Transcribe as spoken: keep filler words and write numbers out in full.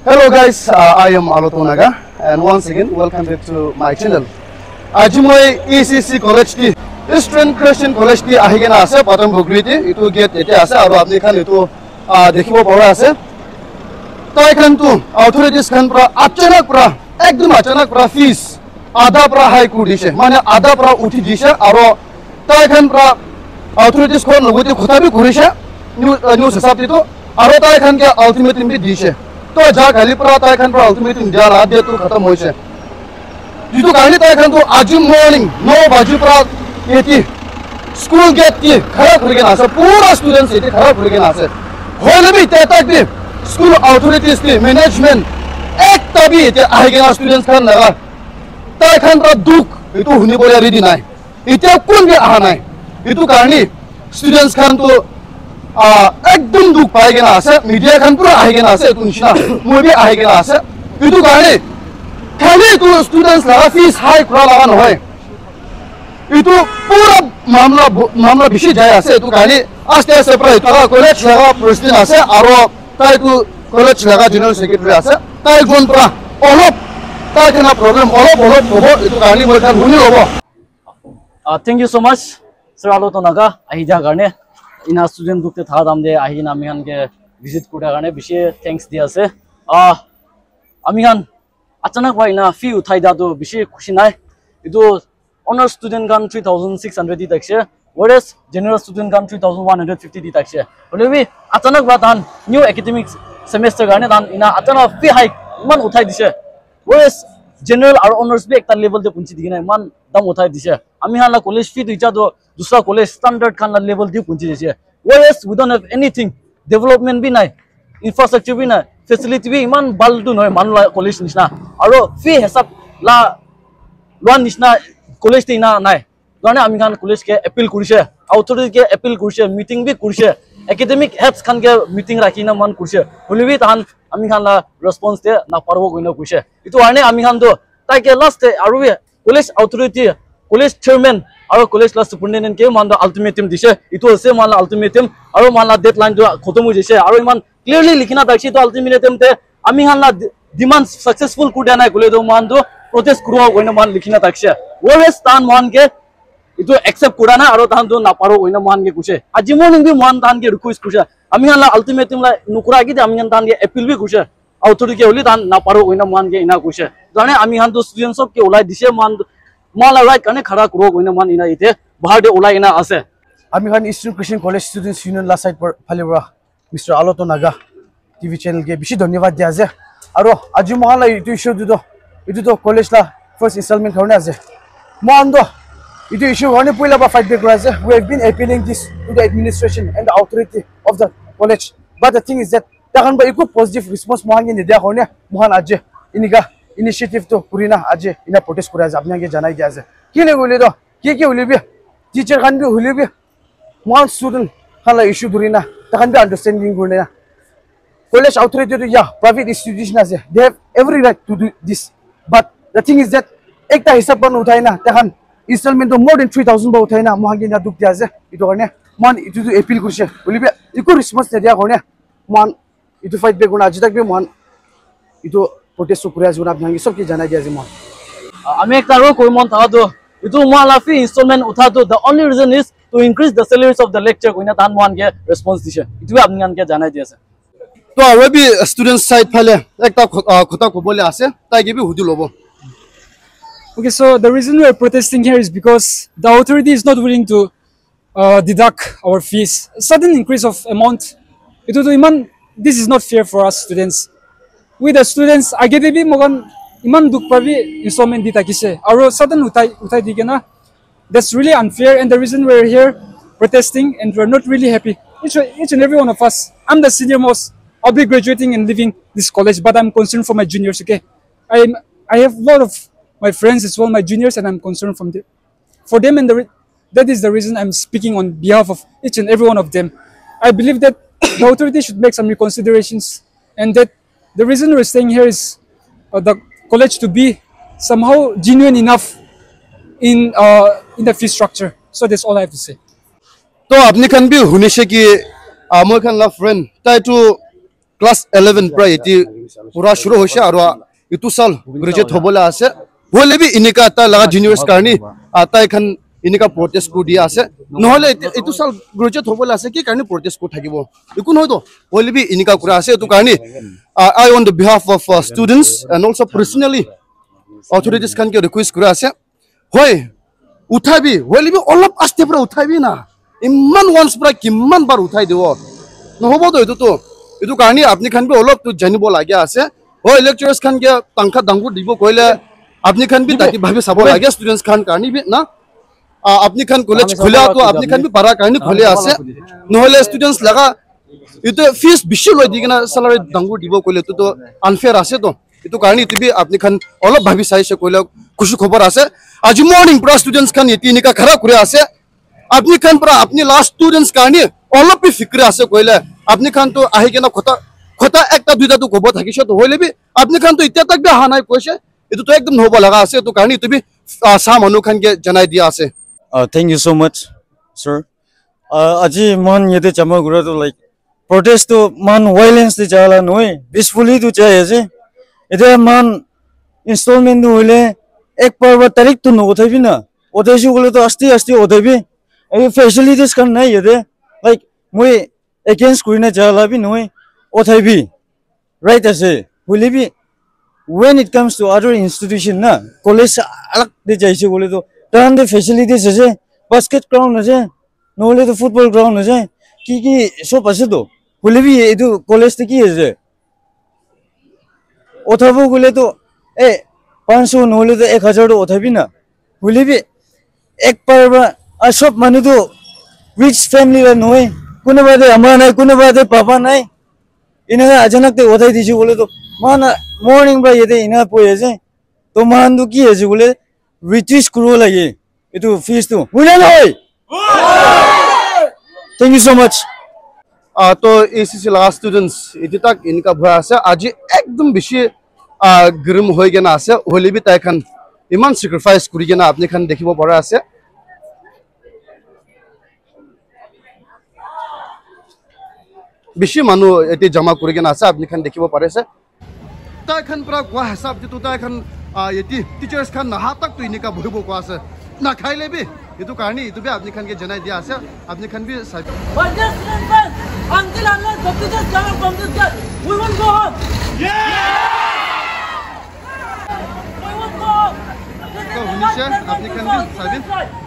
Hello guys, uh, I am Aloto Naga and once again welcome back to my channel. Aji moi E C C College ti, Eastern Christian College ti ahi kena ase, Pathan Bugri ti, itu gate ete ase, aru apni khan itu, uh, dekhibo pari ase. Tai khan tu authorities khan pra achanak pra, ekdum achanak pra fees ada pra high kuri dishe, mane ada pra uthi dishe, aru tai khan pra authorities khan logote khota bi kurishe, new, uh, news hisab te tu, aru tai khan ke ultimatum bi dishe. To ja kali pra tai khan pra ultimatum dia la date tu khatam hoise. Jitu karne tai khan tu aji morning no baji pra yeti school gate ti khara kuri kena ase, pura students yeti khara kuri kena ase. Hoile bi te tak bi school authorities ti management ekta bi yeti ahi kena students khan laga tai khan pra dukh itu huni bole ready nai. Itya kun bi aha nai. Itu karne students khan tu, ah, ekdum dukh pai kena ase, media khan pura ahi kena ase, itu nishina moi bi ahi kena ase. Itu karne khali itu students laga fees high kura laga nohoi. Itu pura mamla bo-, mamla bishi jai ase, itu karne aste aste pra itu laga college laga president ase, aro tai tu college laga general secretary ase, tai jon pra olop tai kena problem olop olop hobo, itu karne moi khan huni lobo. Uh, thank you so much, Sir Aloto Naga, ahi ja karne. Ina student group te thaka dam de ahi na ami khan ke visit kura karne bishi thanks di ase. Uh, ami khan achanak wa ina fee uthai da tu bishi khushi nai. Itu honor student khan three thousand six hundred di thakse, whereas general student khan three thousand one hundred fifty di thakse. Hoile bi achanak wa tan new academic semester karne tan ina achanak fee hike iman uthai dise. Whereas general aro honors bi ekta level te punchi dikena iman dam uthai dise. Ami khan la college fee tu icha tu dusra college standard khan la level te punchi dise. Whereas we don't have anything, development bi nai, infrastructure bi nai, facility bi iman bal tu nohoi manu la college nishina. Aro fee hisab la loan nishina college te ina nai. Karne ami khan college ke appeal kurishe, authority ke appeal kurishe, meeting bi kurishe, academic heads khan ke meeting rakhi na man kurishe. Hoile bi tahan ami khan la response de na paribo koina kuishe. Itu karne ami khan to tai ke last te aru bi college authority, college chairman aru college la superintendent ke man to ultimatum dishe. Itu ase man la ultimatum aru man la deadline to khotom hoi jaise. Aru iman clearly likhina thakse to ultimatum te ami khan la de-, demand successful kuri dia nai koile to mohan to protest kuribo koina mohan likhina thakse. Whereas tahan mohan ke itu accept kura na aru tahan to naparo koina mohan ke kuishe. Aji morning bi mohan tahan ke request kurishe. Ami khan la ultimatum la nukura ki de ami khan tahan ke appeal bi kurishe. Authority ke holi tahan naparo koina mohan ke ina kuishe. Jane ami khan to students sob ke ulai dishe mohan, mohan la right karne khara kuribo koina mohan ina ite bahar de ulai ina ase. Ami khan Eastern Christian College Students Union la side par phale para Mister Aloto Naga T V channel ke bishi dhanyavad dia ase. Aro aji mohan la itu issue tu to, itu to college la first installment karone ase. Mohan to itu issue karone puila pa fight back kura ase. We have been appealing this to the administration and the authority of the college. But the thing is that takhan pa eku positive response mohan ke nidia karone mohan aji inika initiative to kurina aji ina protest kura ase. Apni khan ke janai dia ase. Kile koile to, ki ki hoile bi, teacher khan bi hoile bi, mohan student khan la issue dhurina, takhan bi understanding kurina. College authority to, yeah, private institution ase. They have every right to do this. But the thing is that, ekta hisab khan uthai na, takhan installment to more than three thousand ba uthai na, mohan ke na dukh dia ase. Itu karne, mohan itu to appeal kurishe. Hoile bi, eku response nidia karne, mohan itu fight back kurina aji tak bi mohan itu protest to kuri ase koina apni khan ke sob ke janai dia ase mohan. Ah, ami ekta aro koi mon thaka tu, itu mohan la fee installment utha tu, the only reason is to increase the salaries of the lecturer koina tahan mohan ke response dishe. Itu bi apni khan ke janai dia ase. To aro bi student side phale ekta kho-, ah, khota kobole ase, tai ke bi hudi lobo. Okay, so the reason we are protesting here is because the authority is not willing to uh, deduct our fees. Sudden increase of amount. Itu tu iman, this is not fair for us students. We the students, age te bi moikhan iman dukh pa bi installment di thakise. Aro sudden uthai, uthai di kena. That's really unfair and the reason we're here protesting and we're not really happy. Each, each and every one of us, I'm the senior most. I'll be graduating and leaving this college, but I'm concerned for my juniors, okay? I'm, I have a lot of my friends as well, my juniors, and I'm concerned from the, for them and the re-, that is the reason I'm speaking on behalf of each and every one of them. I believe that the authority should make some reconsiderations and that the reason we're staying here is, uh, the college to be somehow genuine enough in, uh, in the fee structure. So that's all I have to say. To apni khan bi hunishe ki, ah, moi khan la friend tai tu class eleven pra yate pura shuru hoise aru itu sal graduate hobole ase. Hoile bi inika tai laga juniors karni, ah, tai khan inika protest kuri dia ase. Nohole itu, itu sal graduate hobole ase, ki karni protest kuri thakibo? Eku nohoi to, hoile bi inika kura ase. Itu karni, ah, I on the behalf of, uh, students and also personally authorities khan ke request kura ase. Hoi, uthai bi, hoile bi olop aste pra uthai bi na. Iman once pra kiman bar uthai dibo? Nohobo to itu to. Itu karni apni khan bi olop to janibo lage ase. Hoi, lecturers khan ke tangkha dangur dibo koile apni khan bi tati bhabi sabo lage, students khan karni bi na. Ah, apni khan college khula to apni khan bi para karni khule ase. Nohole students laga itu fees bishi loi di kena salary dangur dibo koile itu to unfair ase to. Itu karni itu bi apni khan olop bhabi saise koile khushi khobor ase. Aji morning pra students khan yate inika khara kuri ase. Apni khan pra apni laga students karni olop bi fikir ase koile apni khan to ahi kena khota, khota ekta duita to kobo thakise to, hoile bi apni khan to itya tak bi aha nai koise. Itu to ekdom nohobo laga ase. Itu karni itu bi, ah, sa manu khan ke janai dia ase. Uh, thank you so much, sir. Uh, aji mohan yate jama kura tu, like, protest tu mohan violence te jala nohoi, peacefully tu jai ase. Ete mohan installment tu hoile ek par ba tarik tu no uthai bi na. Uthai si koile tu aste aste uthai bi. Aru facilities khan nai yate. Like, moi against kurina jala bi nohoi, uthai bi. Right ase, hoile bi when it comes to other institution na, college alag te jaise koile to tahan te facilities ase, basket ground ase, nohole to football ground ase, ki ki sob ase to, hoile bi etu college te ki ase? Uthabo koile to, eh, panch sho nohole to ek hajar to uthabi na, hoile bi ek par ba, ah, sob manu to rich family la nohoi, kunuba te ama nai, kunuba te baba nai, Ina achanak te uthai dise koile to, mohan morning pra yate ina boi ase. To mohan to ki ase koile, reduce kuribo lage etu fees to. Hoina nohoi? Thank you so much. Ah, to A C C laga students iti tak inika bhoi ase. Aji ekdom bishi, ah, grim hoi kena ase. Hoile bi tai khan iman sacrifice kuri kena apni khan dikhibo pari ase. Bishi manu ete jama kuri kena ase, apni khan dikhibo pari ase. Tai khan pra koa hisab te tu tai khan, ah, yate teachers khan naha tak tu inika bohibo koa ase. Na khaile bi, etu karni etu bi apni khan ke janai dia ase, apni khan bi sai. But this student friends, until unless the teachers come out from this gate, we won't go home. Yeah! We won't go home. This is the right present to solve students' rights.